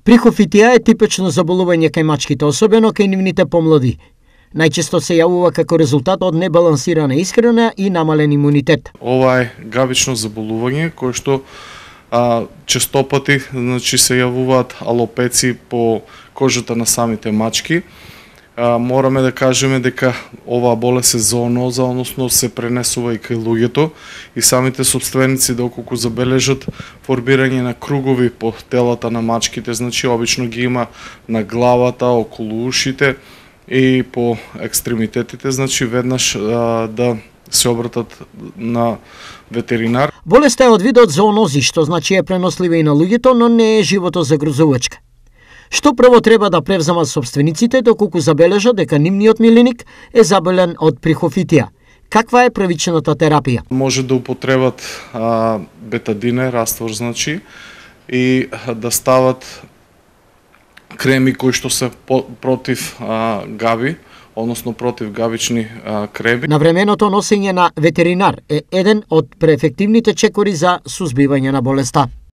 Прихофитија е типично заболување кај мачките, особено кај нивните помлади. Најчесто се јавува како резултат од небалансирана исхрана и намален имунитет. Ова е гавично заболување кое што честопати се јавуваат алопеци по кожата на самите мачки. Мораме да кажеме дека оваа болест е зооноза, односно се пренесува и кај луѓето и самите собственици доколку забележат формирање на кругови по телата на мачките, значи обично ги има на главата, околу ушите и по екстремитетите, значи веднаш да се обратат на ветеринар. Болеста е од видот зоонози, што значи е пренослива и на луѓето, но не е животозагрозувачка. Што прво треба да превземат собствениците доколку забележат дека нивниот милиник е заболен од прихофитија? Каква е првичната терапија? Може да употребат бетадине, раствор значи, и да стават креми кои што се против гави, односно против гавични креми. Навременото носење на ветеринар е еден од преефективните чекори за сузбивање на болеста.